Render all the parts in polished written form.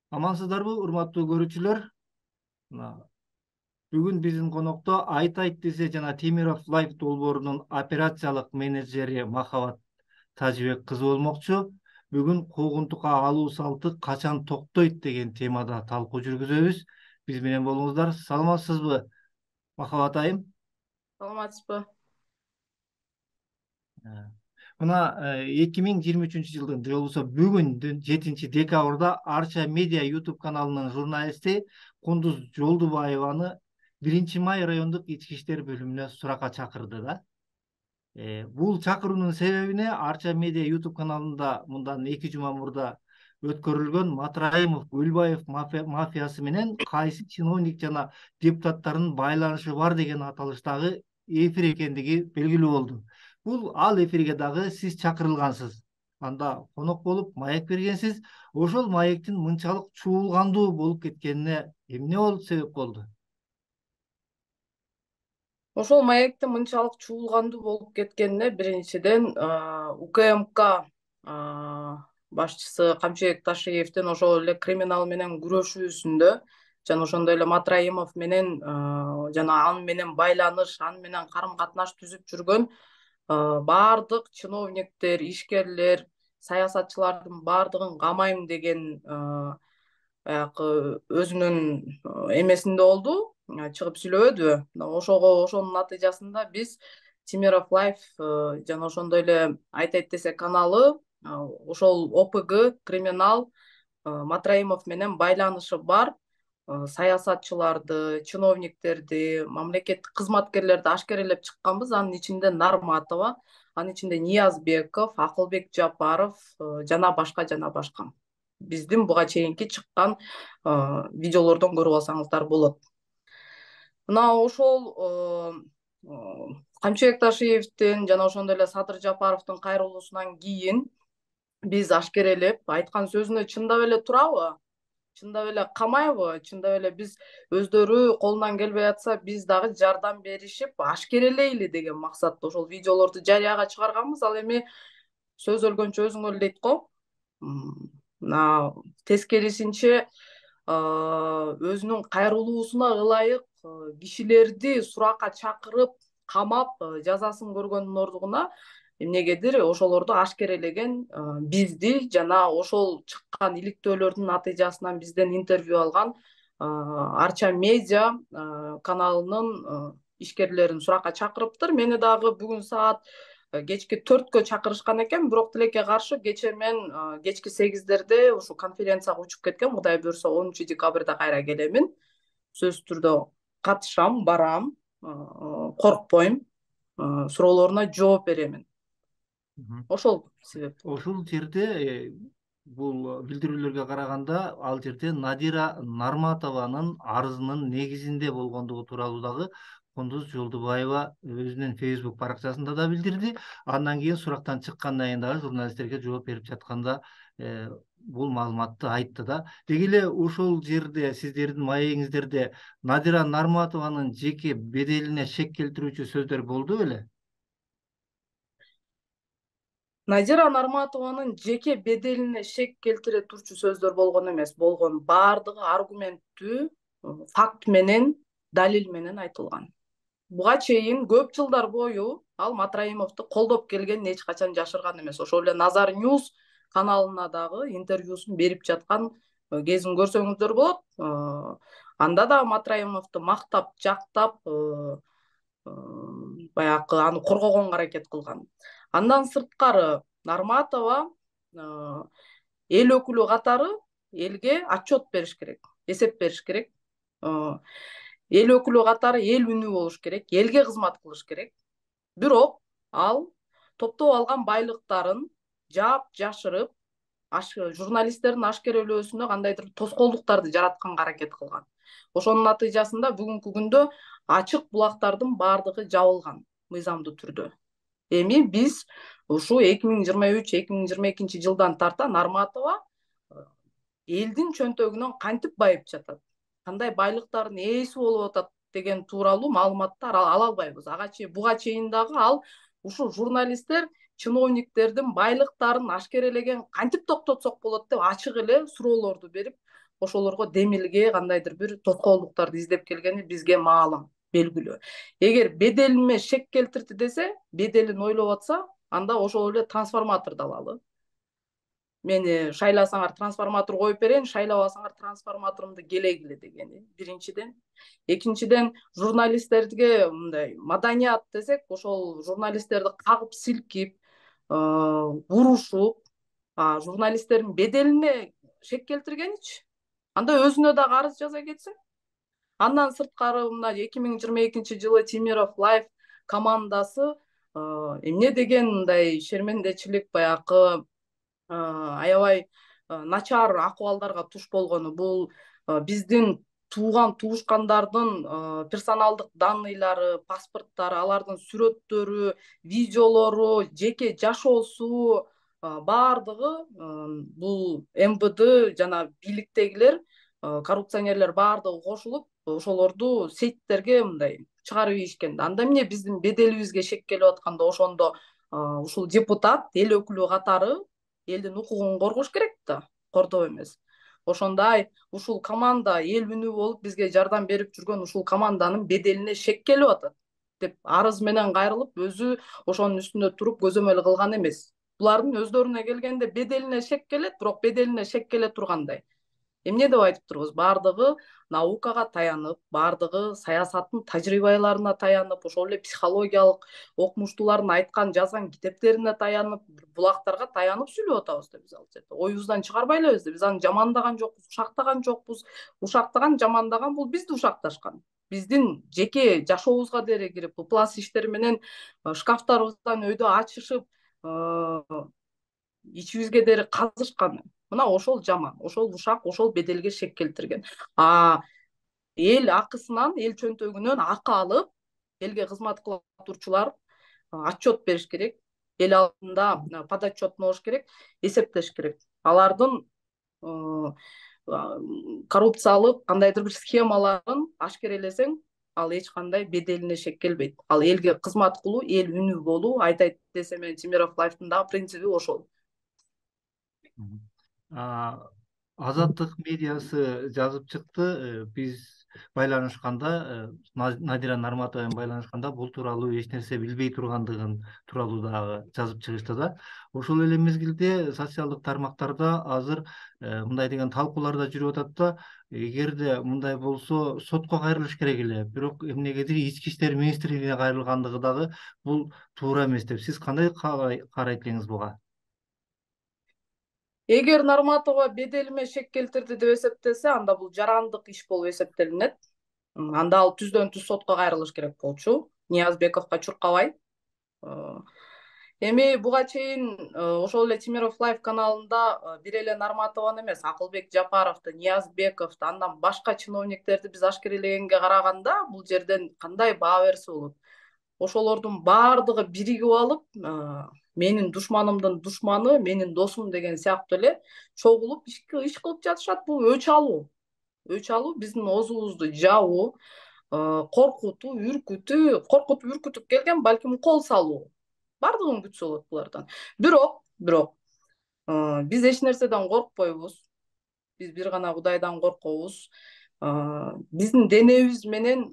Амансыздарбы, урматтуу көрүүчүлөр? Мына, бүгүн биздин конокто Айтайт десе жана Темиров Лайф долбоорунун операциялык менеджери Махабат Тажыбек кызы болмокчу. Бүгүн куугунтукка алуу салты качан токтойт деген темада талкуу жүргүзөбүз. Биз менен болуңуздар. Саламатсызбы, Махабат айым? Саламатсызбы. Мына 2023 жылдын же болбосо бүгүн 7 декабрда Арча Медиа YouTube каналынын журналисти Кундуз Жолдубаеваны 1 Май райондук ички иштер бөлүмүнө суракка чакырды да. Бул чакыруунун себебине Арча Медиа YouTube каналында мындан 2 жума мурда өткөрүлгөн Матраимов Гүлбаев мафиясы менен кайсы чиновник жана депутаттардын байланышы бар деген аталыштагы эфир экендиги белгилүү болду. Бул ал эфирге дагы сиз чакырылгансыз. Анда конок болуп маек бергенсиз. Ошол маектин мынчалык чуулгандуу болуп кеткенине эмне себеп болду? Ошол маектин мынчалык чуулгандуу болуп кеткенине биринчиден УКМК башчысы Камчыбек Ташиевдин ошол эле криминал менен күрөшүүсүндө жана ошондой эле Матраимов менен жана аны менен байланыш, аны менен карым-катнаш түзүп жүргөн баардык чиновниктер, ишкерлер, саясатчылардын баардыгын камайм деген баягы өзүнүн эмесинде болду, чыгып сүйлөбөдүбү. Ошонун натыйжасында биз Темиров Лайф жана ошондой эле Айтайт десе каналы ошол ОПГ криминал Матраимов менен байланышы бар саясатчыларды, чиновниктерди, мамлекеттик кызматкерлерди ашкерелеп чыкканбыз. Анын ичинде Нарматова, анын ичинде Ниязбеков, Акылбек Жапаров жана башка. Биздин буга чейинки чыккан видеолордон көрүп алсаңыздар болот. Мына ошол Камчыбек Ташиевдин жана ошондой эле Садыр Жапаровдун кайрылуусунан кийин биз ашкерелеп айткан сөзүнө чындап эле турабы? Чындап эле камайбы? Чындап эле биз өздөрү колунан келбей атса, биз дагы жардам беришип ашкерелейли деген максатта ошол видеолорду жарыяга чыгарганбыз. Ал эми сөз өлгөнчө өзүң өл дейт го. Мына тескерисинче өзүнүн кайрылуусуна ылайык кишилерди суракка чакырып, камап, жазасын көргөндүн ордуна эмнегедир ошолорду ашкерелеген бизди жана ошол чыккан иликтөөлөрдүн натыйжасынан бизден интервью алган Арча Медиа каналынын ишкерлерин суракка чакырыптыр. Мени дагы бүгүн саат кечки 4кө чакырышкан экен, бирок тилекке каршы кечээ мен кечки 8дерде ушу конференцияга учуп кеткем. Кудай буюрса 10 декабрда кайра келемин. Сөзсүз түрдө катышам, барам, коркпойм, суроолоруна жооп беремин. Ошол себеп. Ошол жерде бул билдирүүлөргө караганда ал жерде Надира Нарматованын арызынын негизинде болгондугу тууралуу дагы Кундуз Жолдубаева өзүнүн Facebook баракчасында да билдирди. Андан кийин сурактан чыккандан кийин дагы журналисттерге жооп берип жатканда бул маалыматты айтты да. Деги эле ошол жерде сиздердин маегиңиздерде Надира Нарматованын жеке беделине шек келтирүүчү сөздөр болду беле? Надира Нарматованын жеке беделине шек келтире турчу сөздөр болгон эмес, болгон баардыгы аргументтүү, факт менен, далил менен айтылган. Буга чейин көп жылдар бою ал Матраимовду колдоп келгенин эч качан жашырган эмес. Ошол эле Назар Ньюс каналына дагы интервьюсун берип жаткан кезин көрсөңүздөр болот. Анда да Матраимовду мактап, жактап, баягы аны коргогонго аракет кылган. Андан сырткары Нарматова эл өкүлү катары элге отчет бериш керек, эсеп бериш керек. Эл өкүлү катары эл үнү болуш керек, элге кызмат кылыш керек. Бирок ал топтоп алган байлыктарын жаап жашырып, журналисттердин ашкерелөөсүнө кандайдыр тоскоолдуктарды жаратканга аракет кылган. Ошонун натыйжасында бүгүнкү күндө ачык булактардын баардыгы жабылган мыйзамдуу түрдө. Эми биз ушу 2023-2022 жылдан тарта Нарматова элдин чөнтөгүнөн кантип байып жатат, кандай байлыктардын ээси болуп атат деген тууралуу маалыматтар ала албайбыз. Буга чейин дагы ал ушу журналисттер чиновниктердин байлыктарын ашкерелеген кантип токтотсок болот деп ачык эле суроолорду берип, ошолорго демилге кандайдыр бир тоскоолдуктарды издеп келгени бизге маалым, белгилүү. Эгер беделиме шек келтирди десе, беделин ойлоп атса, анда ошол эле трансформаторду алалы. Мени шайласаңар трансформатор коюп берейин, шайлабасаңар трансформаторумду келегиле дегени биринчиден. Экинчиден, журналисттерге мындай маданият десек, ошол журналисттерди кагып силкип, урушуп, журналисттердин беделине шек келтиргеничи. Анда өзүнө дагы арыз жаза кетсин. Андан сырткары мына 2022 Темиров Лайф командасы эмне деген мындай шермендечилик, баягы аябай начар акыбалдарга туш болгону. Бул биздин туушкандардын персоналдык данныйлары, паспорттары, алардын сүрөттөрү, видеолору, жеке жашоосу баардыгы бул МВД жана бийликтегилер, коррупционерлер баардыгы кошулуп ошолорду сеттерге мындай чыгарып ийишкен. Анда эмне биздин беделибизге шек келип атканда ошондо ушул депутат эл өкүлү катары элдин укугун коргош керек да, кордоо эмес. Ошондой ушул команда эл үнү болуп бизге жардам берип жүргөн ушул команданын беделине шек келип атат деп арыз менен кайрылып, өзү ошонун үстүндө туруп көзөмөл кылган эмес. Булардын өздөрүнө келгенде беделине шек келет, бирок беделине шек келе тургандай. Эмне деп айтып турбуз? Баардыгы наукага таянып, баардыгы саясаттын тажрыйбаларына таянып, ошол эле психологиялык окумуштуулардын айткан, жазган китептерине таянып, булактарга таянып сүйлөп атабыз да биз ал жерде. Оюбуздан чыгарбай элебиз да. Биз аны жамандаган жокпуз, ушактаган жокпуз. Ушактаган, жамандаган бул бизди ушакташкан. Биздин жеке жашообузга деле кирип, ыплас иштер менен шкафтарыбыздан өйдө ачышып, ичибизге дери казышкан. Мына ошол жаман, ошол ушак, ошол беделге шек келтирген. Эл акысынан, эл чөнтөгүнөн акы алып, элге кызмат кыла турчулар отчет бериш керек. Эл алдында подотчетный болуш керек, эсептеш керек. Алардын коррупциялык кандайдыр бир схемаларын ашкерелесең, ал эч кандай беделине шек келбейт. Ал элге кызмат кылуу, эл үнү болуу, айтайт десем мен Темиров Лайфтын дагы принципи ошол. Азаттык медиасы жазып чыкты. Биз байланышканда, Надира Нарматова менен байланышканда бул тууралуу эч нерсе билбей тургандыгын тууралуу дагы жазып чыгышты да. Ошол эле мезгилде социалдык тармактарда азыр мындай деген талкуулар да жүрүп атат да. Эгерде мындай болсо сотко кайрылыш керек эле. Бирок эмнегедир ички иштер министрлигине кайрылгандыгы дагы бул туура эмес деп. Сиз кандай карайт элеңиз буга? Эгер Нарматова беделиме шек келтирди деп эсептесе, анда бул жарандык иш болуп эсептелинет. Анда ал түздөн түз сотко кайрылыш керек болчу. Ниязбековго чуркабай. Эми буга чейин ошол эле Темиров Лайф каналында бир эле Нарматованы эмес, Акылбек Жапаровду, Ниязбековду, андан башка чиновниктерди биз ашкерелегенге караганда, бул жерден кандай баа берсе болот? Ошолордун баардыгы биригип алып, менин душманымдын душманы менин досум деген сыяктуу эле чогулуп иш кылып жатышат. Бул өч алуу. Өч алуу биздин оозубузду жабуу, коркутуу, үркүтүп келген, балким кол салуу. Бардыгын күтсө болот булардан. Бирок биз эч нерседен коркпойбуз. Биз бир гана Кудайдан коркобуз. Биздин денебиз менен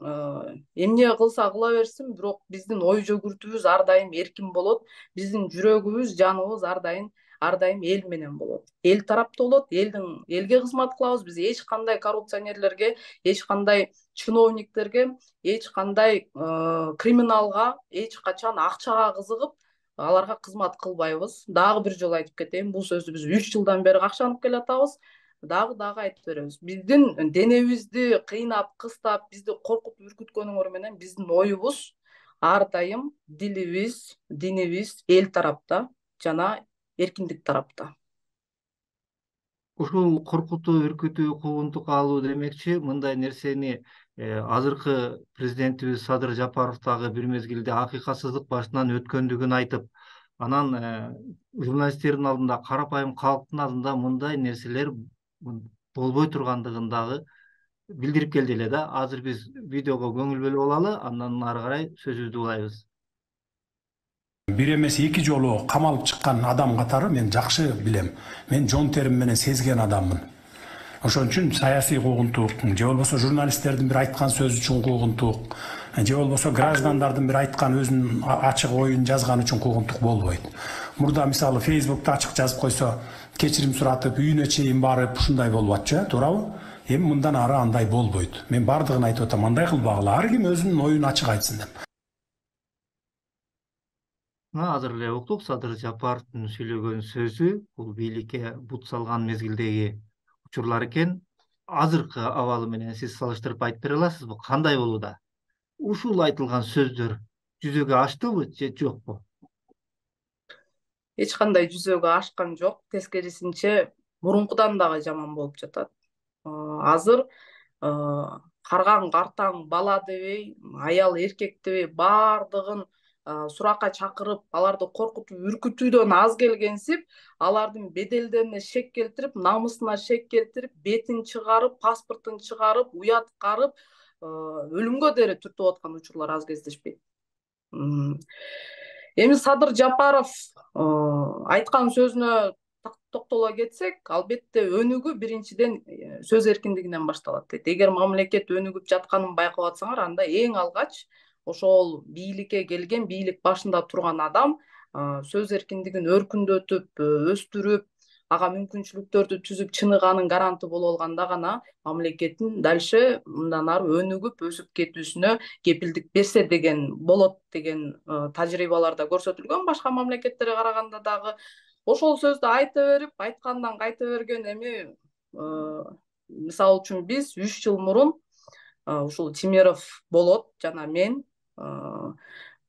эмне кылса кыла берсин, бирок биздин ой жөгүртүүбүз ар дайым эркин болот. Биздин жүрөгүбүз, жаныбыз ар дайым эл менен болот. Эл тарапта болот, элге кызмат кылабыз. Биз эч кандай коррупционерлерге, эч кандай чиновниктерге, эч кандай криминалга, эч качан акчага кызыгып, аларга кызмат кылбайбыз. Дагы бир жолу айтып кетейин, бул сөздү биз 3 жылдан бери какшанып келатабыз. Дагы айтып беребиз. Биздин денебизди кыйнап, кыстап, бизди коркутуп үркүткөнүңөр менен биздин оюбуз ар дайым дилибиз, динибиз эл тарапта жана эркиндик тарапта. Ушул коркутуу, үркүтүү, куугунтукка алуу демекчи, мындай нерсени азыркы президентибиз Садыр Жапаров дагы бир мезгилде акыйкатсыздык башынан өткөндүгүн айтып, анан журналисттердин алдында, карапайым калктын алдында мындай нерселер болбой тургандыгын дагы билдирип келди эле да. Азыр биз видеого көңүл бөлүп алалы, андан ары карай сөзүбүздү улайбыз. Бир эмес 2 жолу камалып чыккан адам катары мен жакшы билем. Мен жон терим менен сезген адаммын. Ошон үчүн саясий куугунтук же болбосо журналисттердин бир айткан сөзү үчүн куугунтук же болбосо граждандардын бир айткан өзүнүн ачык оюн жазганы үчүн куугунтук болбойт. Мурда мисалы Facebook'та ачык жазып койсо, кечирим суратып, үйүнө чейин барып ушундай болуп атчу, туурабы? Эми мындан ары андай болбойт. Мен бардыгын айтып атам, андай кылбагыла, ар ким өзүнүн оюн ачык айтсын деп. Азыр эле уктук Садыр Жапаровдун сүйлөгөн сөзү бул бийликке бут салган мезгилдеги учурлар экен. Азыркы абалы менен сиз салыштырып айтып бере аласызбы? Кандай болууда? Ушул айтылган сөздөр жүзөгө аштыбы же жокпу? Эч кандай жүзөгө ашкан жок, тескерисинче мурункудан дагы жаман болуп жатат. Азыр карган картаң бала дебей, аял эркек дебей баардыгын суракка чакырып, аларды коркутуп, үркүтүүдөн аз келгенсип, алардын беделдерине шек келтирип, намысына шек келтирип, бетин чыгарып, паспортун чыгарып, уяткарып, өлүмгө дери түртүп аткан учурлар аз кездешпейт. Эми Садыр Жапаров айткан сөзүнө токтоло кетсек, албетте өнүгүү биринчиден сөз эркиндигинен башталат дейт. Эгер мамлекет өнүгүп жатканын байкап атсаңар, анда эң алгач ошол бийликке келген, бийлик башында турган адам сөз эркиндигин өркүндөтүп, өстүрүп, ага мүмкүнчүлүктөрдү түзүп чыныганын гаранты боло алганда гана мамлекеттин дальше мындан ары өнүгүп, өсүп кетүүсүнө кепилдик берсе деген болот деген тажрыйбаларда көрсөтүлгөн. Башка мамлекеттерге караганда дагы ошол сөздү айта берип, айткандан кайта берген. Эми мисалы үчүн биз 3 жыл мурун ушул Тимеров Болот жана мен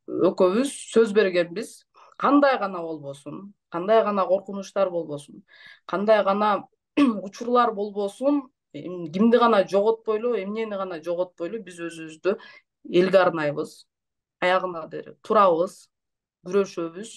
экөөбүз сөз бергенбиз. Кандай гана болбосун, кандай гана коркунучтар болбосун, кандай гана учурлар болбосун, кимди гана жоготпойлу, эмнени гана жоготпойлу, биз өзүбүздү элге арнайбыз, аягына турабыз, күрөшөбүз.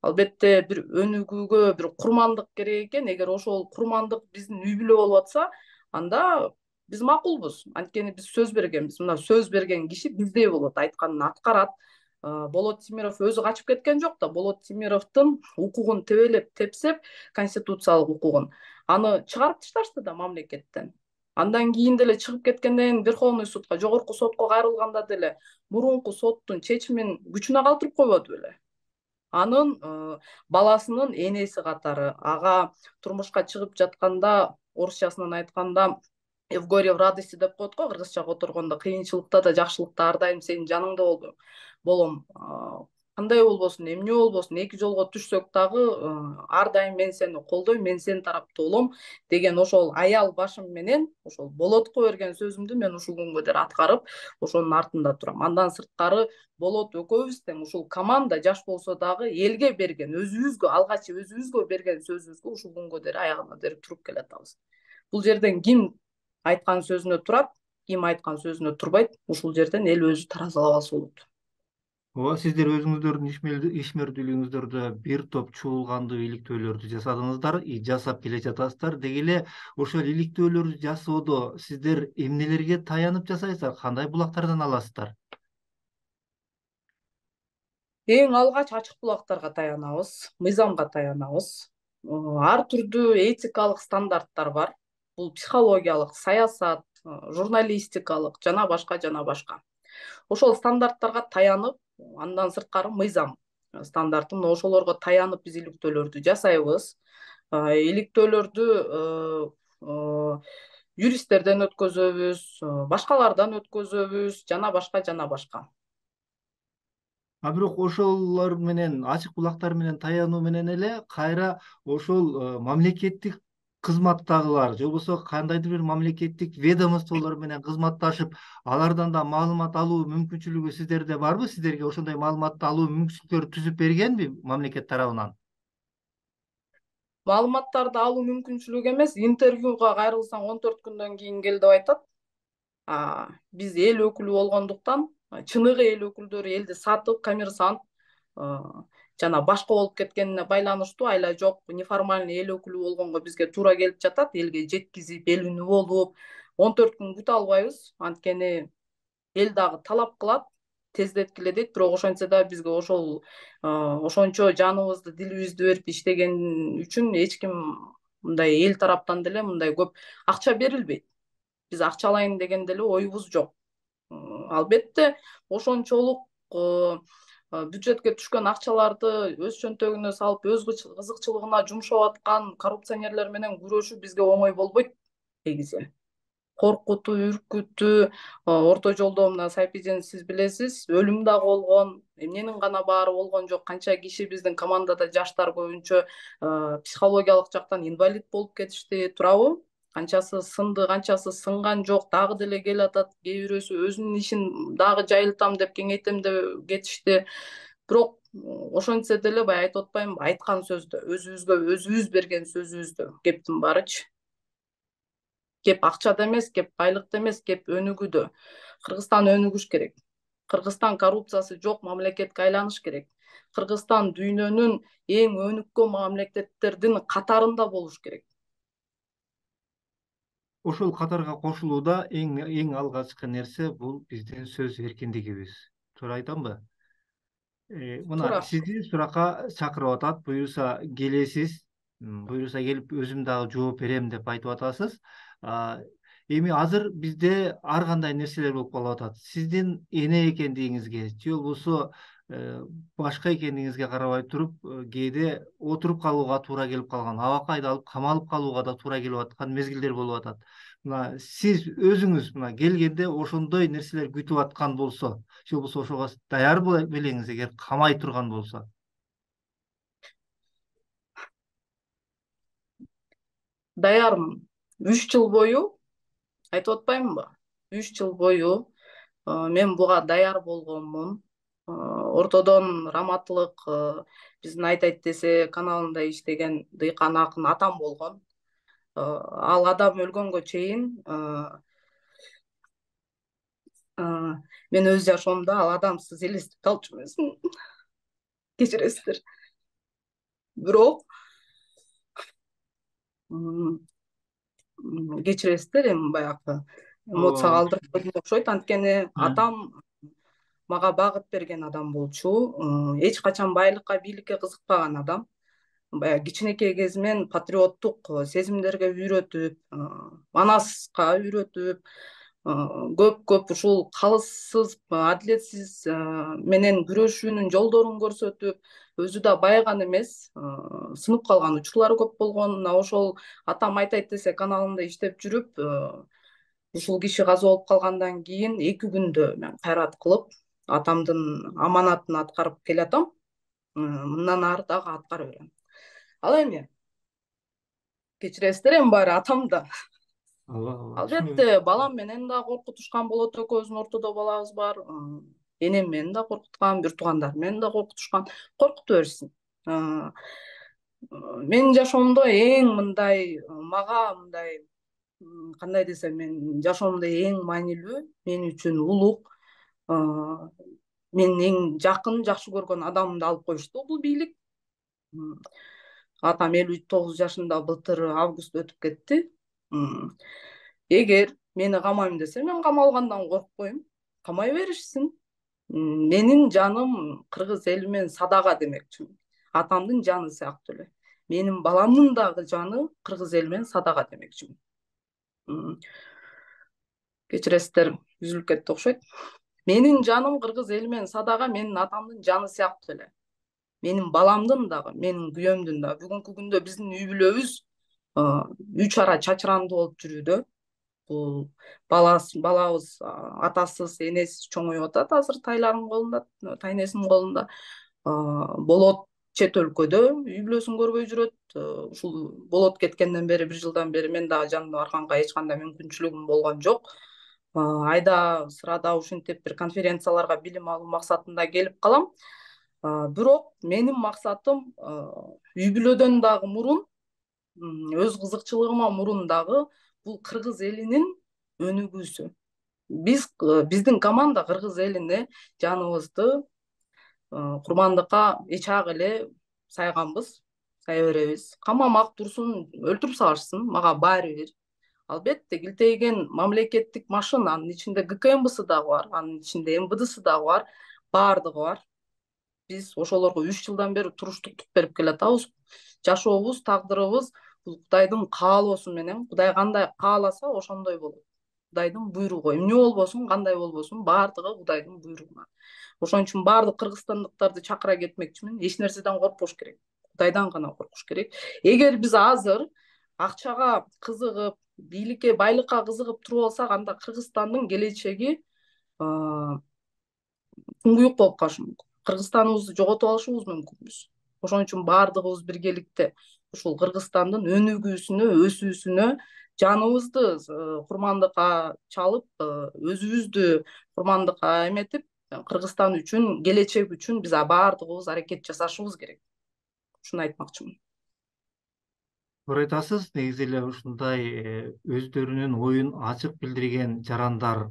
Албетте бир өнүгүүгө бир курмандык керек экен. Эгер ошол курмандык биздин үй бүлө болуп атса, анда биз макулбуз. Анткени биз сөз бергенбиз. Мына сөз берген киши биздей болот, айтканын аткарат. Болот Тимиров өзү качып кеткен жок да. Болот Тимировдун укугун тебелеп, тепсеп, конституциялык укугун, аны чыгарып ташташты да мамлекеттен. Андан кийин деле чыгып кеткенден кийин Верховный судка, жогорку сотко кайрылганда деле мурунку соттун чечимин күчүнө калтырып койбоду беле? Анын баласынын энеси катары, ага турмушка чыгып жатканда, орусчасынан айтканда, в горе в радости деп коет го, кыргызча которгондо, кыйынчылыкта да жакшылыкта ар дайым сенин жаныңда болом. Кандай болбосун, эмне болбосун, эки жолго түшсөк дагы ар дайым мен сени колдойм, мен сенин тарапта болом деген ошол аял башым менен ошол Болотко берген сөзүмдү мен ушул күнгө дейин аткарып, ошонун артында турам. Андан сырткары Болот экөөбүз тең ушул команда жаш болсо дагы элге берген, өзүбүзгө алгач өзүбүзгө берген сөзүбүзгө ушул күнгө дейин аягына дейин туруп келатабыз. Бул жерден ким айткан сөзүнө турат, ким айткан сөзүнө турбайт, ушул жерден эл өзү таразалап алса болот. Ооба, сиздер өзүңүздөрдүн ишмердүүлүгүңүздөрдө бир топ чуулгандуу иликтөөлөрдү жасадыңыздар, жасап келе жатасыздар. Деги эле ошол иликтөөлөрдү жасоодо сиздер эмнелерге таянып жасайсыздар, кандай булактардан аласыздар? Эң алгач ачык булактарга таянабыз, мыйзамга таянабыз. Ар түрдүү этикалык стандарттар бар. Бул психологиялык, саясат, журналистикалык жана башка. Ошол стандарттарга таянып, андан сырткары мыйзам стандарты, ошолорго таянып биз иликтөөлөрдү жасайбыз. Иликтөөлөрдү юристтерден өткөзөбүз, башкалардан өткөзөбүз жана башка. Бирок ошолор менен, ачык булактар менен таянуу менен эле кайра ошол мамлекеттик кызматтагылар же болбосо кандайдыр бир мамлекеттик ведомстволор менен кызматташып, алардан да маалымат алуу мүмкүнчүлүгү сиздерде барбы? Сиздерге ошондой маалыматты алуу мүмкүнчүлүктөрү түзүп бергенби мамлекет тарабынан? Маалыматтарды алуу мүмкүнчүлүгү эмес, интервьюга кайрылсаң 14 күндөн кийин кел деп айтат. Биз эл өкүлү болгондуктан, чыныгы эл өкүлдөрү элди сатып, коммерсант жана башка болуп кеткенине байланыштуу, айла жок, неформальный эл өкүлү болгонго бизге туура келип жатат. Элге жеткизип, эл үнү болуп, 14 күн күтө албайбыз. Анткени эл дагы талап кылат, тездеткиле дейт. Бирок ошентсе да бизге ошончо жаныбызды, дилибизди берип иштеген үчүн эч ким мындай эл тараптан деле мындай көп акча берилбейт. Биз акча алайын деген деле оюбуз жок. Албетте ошончолук бюджетке түшкөн акчаларды өз чөнтөгүнө салып, өз кызыкчылыгына жумшап аткан коррупционерлер менен күрөшүү бизге оңой болбойт негизи. Коркутуу, үркүтүү, орто жолдо мына Сайпиден сиз билесиз, өлүм дагы болгон, эмненин гана баары болгон жок. Канча киши биздин командада жаштар көбүнчө психологиялык жактан инвалид болуп кетишти, туурабы? Канчасы сынды, канчасы сынган жок, дагы деле келатат. Кээ бирөөсү өзүнүн ишин дагы жайылтам деп, кеңейтем деп кетишти. Бирок ошентсе деле баягы айтып атпаймынбы, айткан сөздө, өзүбүзгө өзүбүз берген сөзүбүздө кептин баарычы. Кеп акчада эмес, кеп байлыкта эмес, кеп өнүгүүдө. Кыргызстан өнүгүш керек. Кыргызстан коррупциясы жок мамлекетке айланыш керек. Кыргызстан дүйнөнүн эң өнүккөн мамлекеттердин катарында болуш керек. Ошол катарга кошулууда эң алгачкы нерсе бул биздин сөз эркиндигибиз. Туура айтамбы? Мына Туура. сизди суракка чакырып атат, буюрса келесиз, буюрса келип өзүм дагы жооп берем деп айтып атасыз. Эми азыр бизде ар кандай нерселер болуп калып атат. Сиздин эне экендигиңизге же болбосо башка экендигиңизге карабай туруп, кээде отуруп калууга туура келип калган, абакайда алып камалып калууга да туура келип аткан мезгилдер болуп атат. Мына сиз өзүңүз мына келгенде ошондой нерселер күтүп аткан болсо, же болбосо ошого даяр белеңиз эгер камай турган болсо. Даярмын. 3 жыл бою айтып атпаймынбы? 3 жыл бою мен буга даяр болгонмун. Ортодон раматтылык биздин Айтайт десе каналында иштеген дыйкан акын атам болгон. Ал адам өлгөнгө чейин мен өз жашоомдо ал адамсыз элестете алчу эмесмин. Кечиресиздер. Бирок кечиресиздер, эми баягы эмоцияга алдырып койдум окшойт. Анткени атам мага багыт берген адам болчу. Эч качан байлыкка, бийликке кызыкпаган адам. Баягы кичинекей кезинен патриоттук сезимдерге үйрөтүп, манаска үйрөтүп, көп ушул калыссыз, адилетсиз менен күрөшүүнүн жолдорун көрсөтүп, өзү да байыган эмес, сынып калган учурлары көп болгон. Мына ошол атам Айтайт десе каналында иштеп жүрүп, ушул киши каза болуп калгандан кийин 2 күндө мен кайрат кылып, атамдын аманатын аткарып келатам. Мындан ары дагы аткара берем. Ал эми кечиресиздер, эми баары атам да. Албетте балам менен да коркутушкан болот, экөөбүздүн ортодо балабыз бар. Энем менен да коркуткан, бир туугандарым менен да коркутушкан. Коркута берсин. Менин жашоомдо эң мындай мага мындай кандай десем, мен жашоомдо эң маанилүү, мен үчүн улук, менин эң жакын, жакшы көргөн адамымды алып коюшту бул бийлик. Атам 59 жашында былтыр август өтүп кетти. Эгер мени камайм десе, мен камалгандан коркпойм. Камай беришсин. Менин жаным кыргыз эли менен садага демекчимин. Атамдын жаны сыяктуу эле. Менин баламдын дагы жаны кыргыз эли менен садага демекчимин. Кечиресиздер, үзүлүп кетти окшойт. Менин жаным кыргыз эли менен садага менин атамдын жаны сыяктуу эле. Менин баламдын дагы, менин күйөөмдүн дагы. Бүгүнкү күндө биздин үй бүлөбүз 3 ара чачырандуу болуп жүрүүдө. Бул балабыз атасыз, энесиз чоңоюп атат азыр тайлардын колунда, тайнесинин колунда. Болот чет өлкөдө үй бүлөсүн көрбөй жүрөт. Ушул болот кеткенден бери, 1 жылдан бери мен дагы жанына барганга эч кандай мүмкүнчүлүгүм болгон жок. Айда сырада ушинтип бир конференцияларга билим алуу максатында келип калам. Бирок менин максатым үй бүлөдөн дагы мурун, өз кызыкчылыгыма мурун дагы бул кыргыз элинин өнүгүүсү. Биздин команда кыргыз элине жаныбызды курмандыкка эчак эле сайганбыз, сая беребиз. Камамак турсун, өлтүрүп салышсын, мага баары бир. Албетте килтейген мамлекеттик машина, анын ичинде ГКМБсы дагы бар, анын ичинде МВДсы дагы бар, баардыгы бар. Биз ошолорго 3 жылдан бери туруштуктук берип келатабыз. Жашообуз, тагдырыбыз Бул Кудайдын каалоосу менен, Кудай кандай кааласа ошондой болот. Кудайдын буйругу. Эмне болбосун, кандай болбосун, баардыгы Кудайдын буйругунан. Ошон үчүн баардык кыргызстандыктарды чакыра кетмекчимин. Эч нерседен коркпош керек. Кудайдан гана коркуш керек. Эгер биз азыр акчага кызыгып, бийликке, байлыкка кызыгып туруп алсак, анда Кыргызстандын келечеги туңгуюк болуп калышы мүмкүн. Кыргызстаныбызды жоготуп алышыбыз мүмкүнбүз. Ошон үчүн баардыгыбыз биргеликте ушул Кыргызстандын өнүгүүсүнө, өсүүсүнө жаныбызды курмандыкка чалып, өзүбүздү курмандыкка эметип, Кыргызстан үчүн, келечек үчүн биз баардыгыбыз аракет жасашыбыз керек. Ушуну айтмакчымын. Туура айтасыз. Негизи эле ушундай өздөрүнүн оюн ачык билдирген жарандар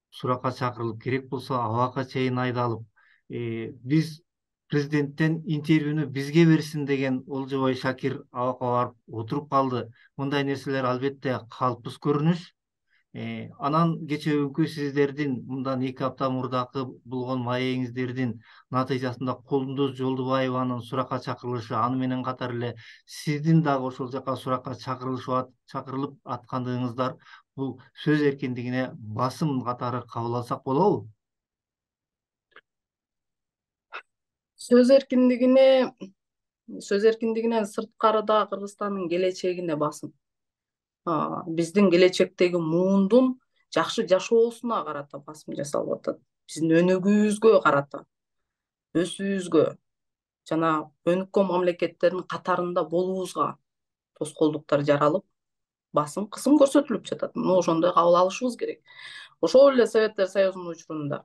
суракка чакырылып, керек болсо абакка чейин айдалып, биз президенттен интервьюну бизге берсин деген Олжобой Шакир абакка барып отуруп калды. Мындай нерселер албетте калпсыз көрүнүш. Анан кечээ күнкү сиздердин мындан 2 апта мурдакы болгон маегиңиздердин натыйжасында Кундуз Жолдубаеванын суракка чакырылышы, аны менен катар эле сиздин дагы ошол жака суракка чакырылып аткандыгыңыздар бул сөз эркиндигине басым катары кабыл алсак болобу? Сөз эркиндигинен сырткарыда Кыргызстандын келечегине басым. Биздин келечектеги муундун жакшы жашоосуна карата басым жасалып атат. Биздин өнүгүүбүзгө карата, өсүүбүзгө жана өнүккөн мамлекеттердин катарында болуубузга тоскоолдуктар жаралып, басым, кысым көрсөтүлүп жатат. Муну ошондой кабыл алышыбыз керек. Ошол эле Советтер Союзунун учурунда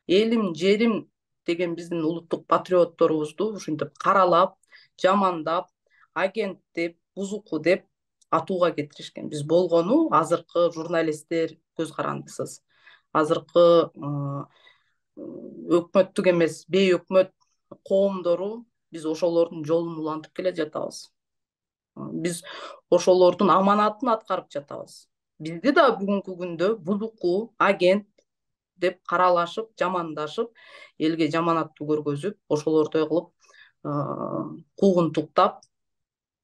элим, жерим деген биздин улуттук патриотторубузду ушинтип каралап, жамандап, агент деп, бузуку деп атууга кетиришкен. Биз болгону азыркы журналисттер көз карандысыз. Азыркы өкмөттүк эмес, бейөкмөт коомдору биз ошолордун жолун улантып келе жатабыз. Биз ошолордун аманатын аткарып жатабыз. Бизди да бүгүнкү күндө бузуку, агент деп каралашып, жамандашып, элге жаманаттуу көргөзүп, ошолордой кылып куугунтуктап,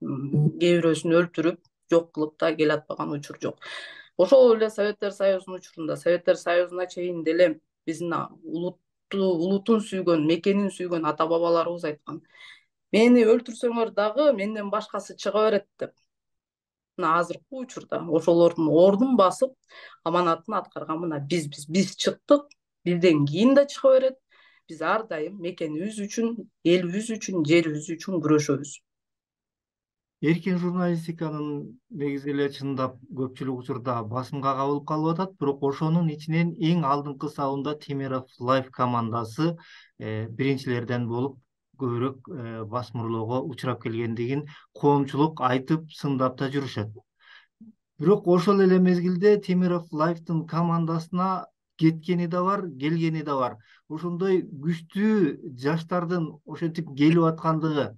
кээ бирөөсүн өлтүрүп, жок кылып да келатпаган учур жок. Ошол эле Советтер Союзунун учурунда, Советтер Союзуна чейин деле биздин улутун сүйгөн, мекенин сүйгөн ата бабаларыбыз айткан: мени өлтүрсөңөр дагы менден башкасы чыга берет деп. Мына азыркы учурда ошолордун ордун басып, аманатын аткарган мына биз чыктык, бизден кийин да чыга берет. Биз ар дайым мекенибиз үчүн, элибиз үчүн, жерибиз үчүн күрөшөбүз. Эркин журналистиканын негизи эле чындап көпчүлүк учурда басымга кабылып калып атат, бирок ошонун ичинен эң алдыңкы сабында Темиров Life командасы биринчилерден болуп көбүрөөк басмырлоого учурап келгендигин коомчулук айтып, сындап да жүрүшөт. Бирок ошол эле мезгилде Темиров Life'тын командасына кеткени да бар, келгени да бар. Ошондой күчтүү жаштардын ошентип келип аткандыгы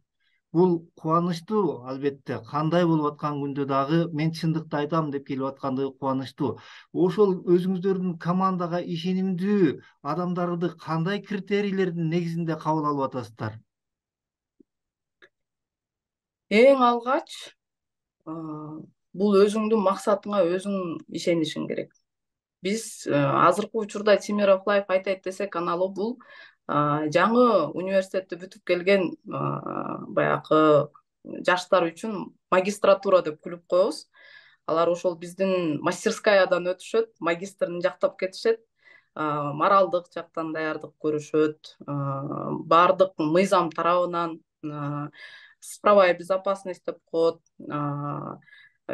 бул кубанычтуу. Албетте, кандай болуп аткан күндө дагы мен чындыкты айтам деп келип аткандыгы кубанычтуу. Ошол өзүңүздөрдүн командага ишенимдүү адамдарды кандай критерийлердин негизинде кабыл алып атасыздар? Эң алгач бул өзүңдүн максатыңа өзүң ишенишиң керек. Биз азыркы учурда Темиров Life айтайт десек, аналы бул жаңы университетти бүтүп келген баягы жаштар үчүн магистратура деп күлүп коебуз. Алар ошол биздин мастерскаядан өтүшөт, магистрын жактап кетишет, моралдык жактан даярдык көрүшөт, баардык мыйзам тарабынан, цифровая безопасность деп коет,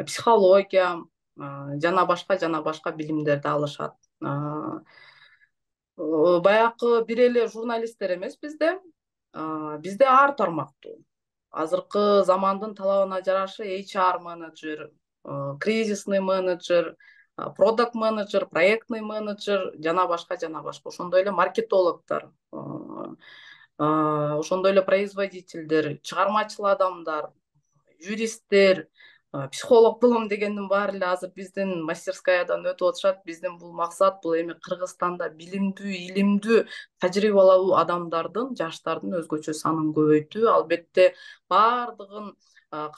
психология жана башка билимдерди алышат. Баягы бир эле журналисттер эмес бизде ар тармактуу. Азыркы замандын талабына жараша HR менеджер, кризисный менеджер, продакт менеджер, проектный менеджер жана башка. Ошондой эле маркетологдор, ошондой эле производительдер, чыгармачыл адамдар, юристтер, психолог болом дегендин баары эле азыр биздин мастерскаядан өтүп атышат. Биздин бул максат, бул эми Кыргызстанда билимдүү, илимдүү, тажрыйбалуу адамдардын, жаштардын өзгөчө санын көбөйтүү. Албетте баардыгын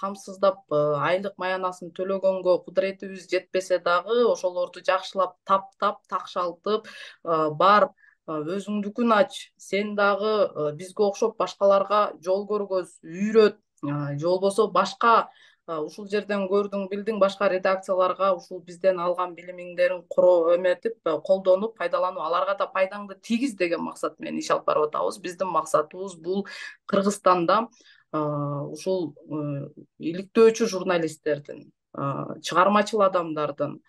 камсыздап айлык маянасын төлөгөнгө кудуретибиз жетпесе дагы ошолорду жакшылап таптап такшалтып бар өзүңдүкүн ач, сен дагы бизге окшоп башкаларга жол көргөз, үйрөт, же болбосо башка ушул жерден көрдүң, билдиң, башка редакцияларга ушул бизден алган билимиңдерин эметип, колдонуп, пайдаланып, аларга да пайдаңды тийгиз деген максат менен иш алып барып атабыз. Биздин максатыбыз бул Кыргызстанда ушул иликтөөчү журналисттердин, чыгармачыл адамдардын,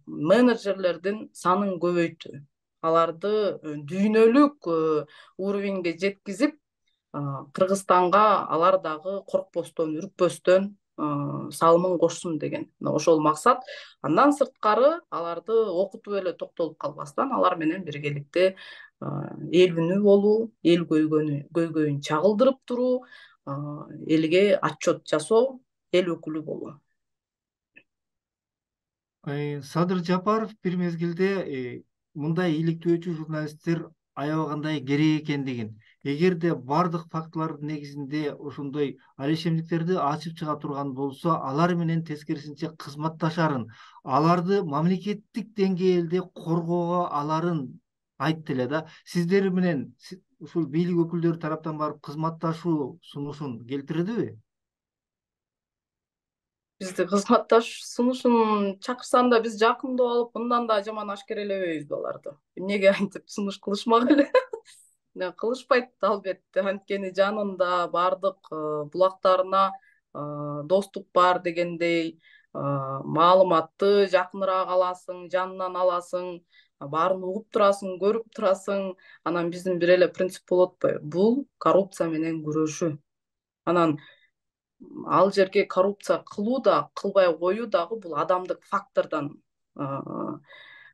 менеджерлердин санын көбөйтүү, аларды дүйнөлүк уровеньге жеткизип, Кыргызстанга алар дагы коркпостон, үркпөстөн салымын кошсун деген ошол максат. Андан сырткары аларды окутуп эле токтолуп калбастан, алар менен биргеликте эл үнү болуу, эл көйгөйүн чагылдырып туруу, элге отчет жасоо, эл өкүлү болуу. Садыр Жапаров бир мезгилде мындай иликтөөчү журналисттер аябагандай керек экендигин, эгерде бардык фактылардын негизинде ошондой алишемдиктерди ачып чыга турган болсо, алар менен тескерисинче кызматташарын, аларды мамлекеттик деңгээлде коргоого аларын айтты эле да. Сиздер менен ушул бийлик өкүлдөрү тараптан барып кызматташуу сунушун келтирдиби? Бизди кызматташ сунушун чакырсаң да биз жакындап алып, мындан да жаман ашкерелебейбизби аларды? Эмнеге антип сунуш кылышмак эле? Кылышпайт албетте, анткени жанында бардык булактарына доступ бар дегендей маалыматты жакыныраак аласың, жанынан аласың, баарын угуп турасың, көрүп турасың. Анан биздин бир эле принцип болуп атпайбы? Бул коррупция менен күрөшүү. Анан ал жерге коррупция кылуу да, кылбай коюу дагы бул адамдык фактордон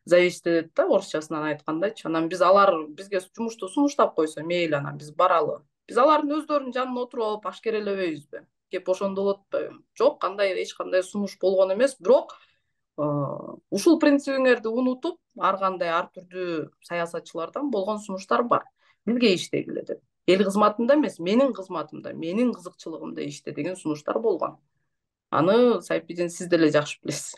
зависит этет да, орусчасынан айткандачы. Анан алар бизге жумушту сунуштап койсо мейли, анан биз баралы. Биз алардын өздөрүнүн жанына отуруп алып ашкерелебейбизби? Кеп ошондо болот атпайбы? Жок, эч кандай сунуш болгон эмес, бирок ушул принцибиңерди унутуп, ар кандай ар түрдүү саясатчылардан болгон сунуштар бар. Бизге иштегиле деп. Эл кызматында эмес, менин кызматымда, менин кызыкчылыгымда иште деген сунуштар болгон. Аны Сайпидин сиз деле жакшы билесиз.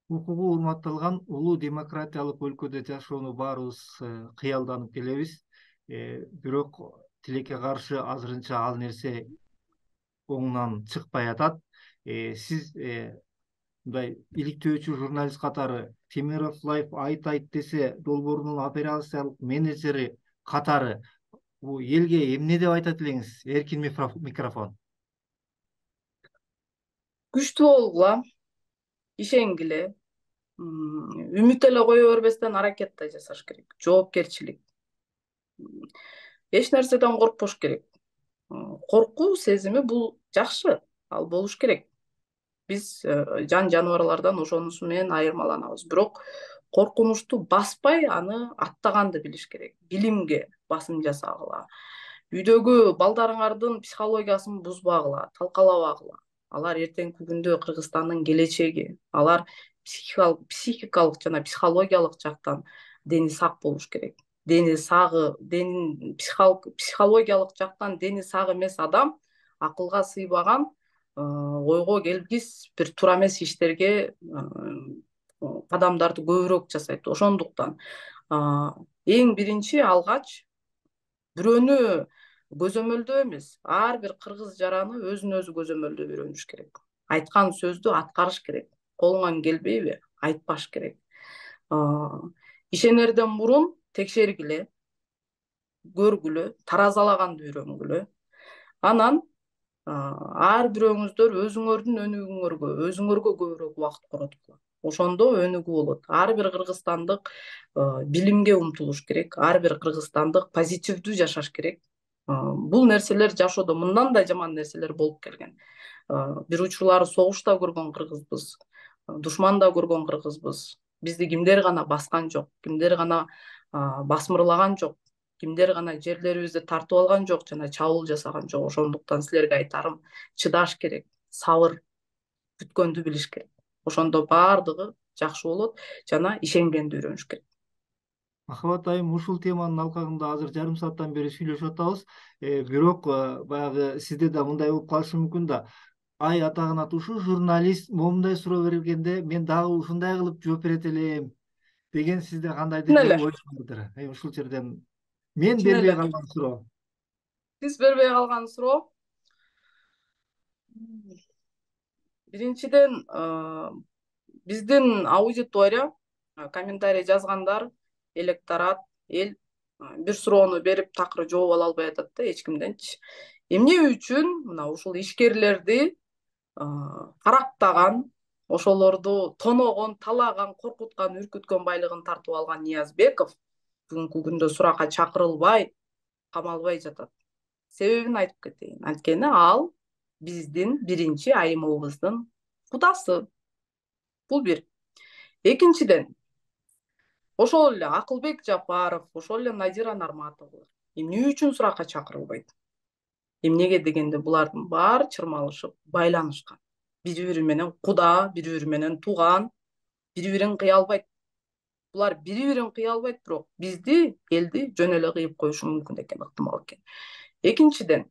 Укугу урматталган улуу демократиялык өлкөдө жашоону баарыбыз кыялданып келебиз. Бирок тилекке каршы азырынча ал нерсе оңунан чыкпай атат. Сиз мындай иликтөөчү журналист катары, Темиров Лайф айт десе долбоорунун операциялык менеджери катары бул элге эмне деп айтат элеңиз? Эркин микрофон. Күчтүү болгула, ишенгиле, үмүт эле кое бербестен аракет да жасаш керек. Жоопкерчилик. Эч нерседен коркпош керек. Коркуу сезими бул жакшы, ал болуш керек. Биз жан жаныбарлардан ошонусу менен айырмаланабыз. Бирок коркунучту баспай, аны аттаганды билиш керек. Билимге басым жасагыла. Үйдөгү балдарыңардын психологиясын бузбагыла, талкалабагыла. Алар эртеңки күндө Кыргызстандын келечеги. Алар психикалык жана психологиялык жактан дени сак болуш керек. Психологиялык жактан дени сак эмес адам акылга сыйбаган, ойго келгис бир туура эмес иштерге кадамдарды көбүрөөк жасайт. Ошондуктан эң биринчи алгач бирөөнү көзөмөлдөө эмес, ар бир кыргыз жараны өзүн өзү көзөмөлдөп үйрөнүш керек. Айткан сөздү аткарыш керек. Колуңан келбейби? Айтпаш керек. Ишенерден мурун текшергиле, көргүлө, таразалаганды үйрөнгүлө. Анан ар бирөөңүздөр өзүңөрдүн өзүңөргө көбүрөөк убакыт короткула. Ошондо өнүгүү болот. Ар бир кыргызстандык билимге умтулуш керек. Ар бир кыргызстандык позитивдүү жашаш керек. Бул нерселер жашоодо мындан да жаман нерселер болуп келген. Бир учурлары согуш да көргөн кыргызбыз, душман да көргөн кыргызбыз. Бизди кимдер гана баскан жок, кимдер гана басмырлаган жок, кимдер гана жерлерибизди тартып алган жок жана чабуул жасаган жок. Ошондуктан силерге айтарым, чыдаш керек, сабыр, күткөндү билиш керек. Ошондо баардыгы жакшы болот жана ишенгенди үйрөнүш керек. Махабат айым, ушул теманын алкагында азыр жарым сааттан бери сүйлөшүп атабыз. Бирок баягы сизде да мындай болуп калышы мүмкүн да. Ай атагына ушул журналист момундай суроо бергенде мен дагы ушундай кылып жооп берет элем деген сизде кандайдыр Чын бир эле, ой бардыр. Ушул жерден мен чын бербей эле. калган суроо. Сиз бербей калган суроо. Биринчиден, биздин аудитория, комментарий жазгандар, электорат, эл бир суроону берип такыр жооп ала албай атат да эч кимденчи. Эмне үчүн мына ушул ишкерлерди карактаган, ошолорду тоногон, талаган, коркуткан, үркүткөн байлыгын тартып алган Ниязбеков бүгүнкү күндө суракка чакырылбай, камалбай жатат? Себебин айтып кетейин. Анткени ал биздин биринчи айымыбыздын кудасы. Бул бир. Экинчиден, ошол эле Акылбек Жапаров, ошол эле Надира Нарматовалар эмне үчүн суракка чакырылбайт? Эмнеге дегенде булардын баары чырмалышып, байланышкан. Бири-бири менен куда, бири-бири менен тууган, бири-бирин кыя албайт. Булар бири-бирин кыя албайт, бирок бизди, элди жөн эле кыйып коюшу мүмкүн экен, ыктымал экен. Экинчиден,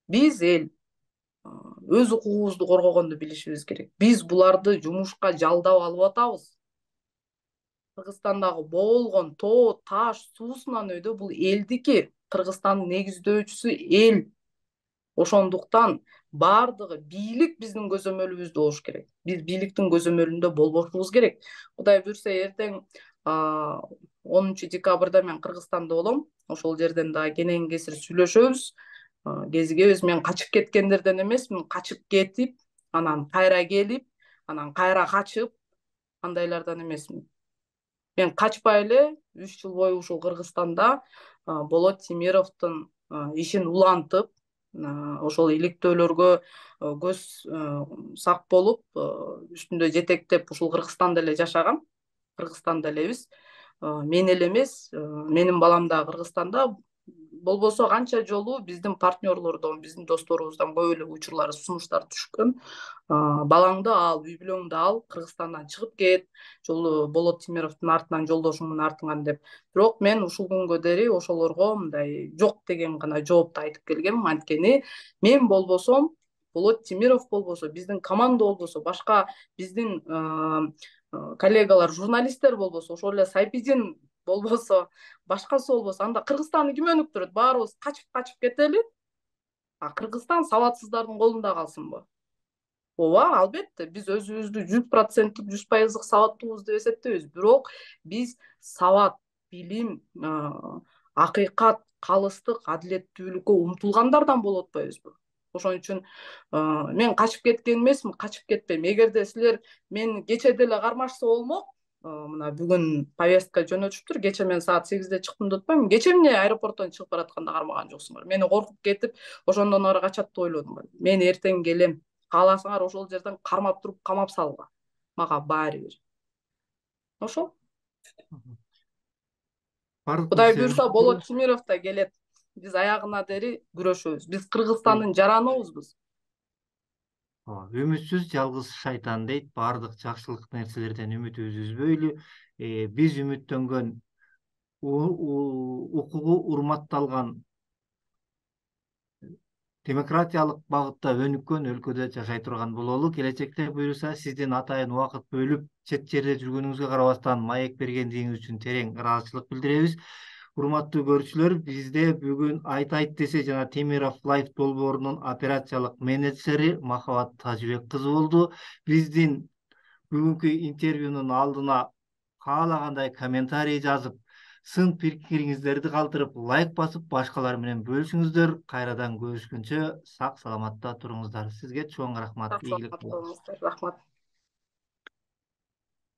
биз эл өз укугубузду коргогонду билишибиз керек. Биз буларды жумушка жалдап алып атабыз. Кыргызстандагы болгон тоо, таш, суусунан өйдө бул элдики. Кыргызстандын негиздөөчүсү эл. Ошондуктан баардыгы бийлик биздин көзөмөлүбүздө болуш керек. Биз бийликтин көзөмөлүндө болбошубуз керек. Кудай буйрса эртең 10 декабрда мен Кыргызстанда болом. Ошол жерден дагы кенен кесир сүйлөшөбүз. Кезигебиз. Мен качып кеткендерден эмесмин, качып кетип, анан кайра келип, анан кайра качып, андайлардан эмесмин. Мен качпай эле 3 жыл бою ушул Кыргызстанда Болот Тимировдун ишин улантып, ошол иликтөөлөргө көз сак болуп, үстүндө жетектеп ушул Кыргызстанда эле жашагам. Кыргызстанда элебиз. Мен эле эмес, менин балам да Кыргызстанда. Болбосо канча жолу биздин партнерлордон, биздин досторубуздан көп эле учурлар, сунуштар түшкөн. Балаңды ал, үй бүлөңдү ал, Кыргызстандан чыгып кет, жолу Болот Тимировдун артынан жолдошуңдун артынан деп. Бирок мен ушул күнгө дери ошолорго мындай жок деген гана жоопту айтып келгем. Анткени мен болбосом, Болот Тимиров болбосо, биздин команда болбосо, башка биздин коллегалар, журналисттер болбосо, ошол эле Сайпидин болбосо, башкасы болбосо, анда Кыргызстанды ким өнүктүрөт? Баарыбыз качып кетели. Кыргызстан сабатсыздардын колунда калсынбы? Ооба, албетте, биз өзүбүздү 100%, 100% сабаттуубуз деп эсептейбиз. Бирок биз сабат, билим, акыйкат, калыстык, адилеттүүлүккө умтулгандардан болуп атпайбызбы? Ошон үчүн мен качып кеткен эмесмин, качып кетпейм. Эгерде силер мен кече деле кармашса болмок, мына бүгүн повестка жөнөтүшүптүр. Кече мен саат 8-де чыктым деп атпаймынбы? Кече эмне аэропорттон чыгып баратканда кармаган жоксуңар? Мени коркуп кетип, ошондон ары качат деп ойлодуңар. Мен эртең келем. Кааласаңар ошол жерден кармап туруп камап салгыла. Мага баары бир. Ошол. Кудай буйрса Болот Тимиров да келет. Биз аягына дери күрөшөбүз. Биз Кыргызстандын жараныбызбыз. Үмүтсүз жалгыз шайтан дейт. Баардык жакшылык нерселерден үмүтүбүздү үзбөйлү. Биз үмүттөнгөн укугу урматталган, демократиялык багытта өнүккөн өлкөдө жашай турган бололу. Келечекте буйруса сиздин атайын убакыт бөлүп чет жерде жүргөнүңүзгө карабастан маек бергендигиңиз үчүн терең ыраазычылык билдиребиз. Урматтуу көрүүчүлөр, бизде бүгүн Айт десе жана Темиров Лайф долбоорунун операциялык менеджери Махабат Тажыбек кызы болду. Биздин бүгүнкү интервьюнун алдына каалагандай комментарий жазып, сын пикириңиздерди калтырып, лайк басып, башкалар менен бөлүшүңүздөр. Кайрадан көрүшкөнчө сак саламатта туруңуздар. Сизге чоң рахмат. Сак саламат болуңуздар. Рахмат.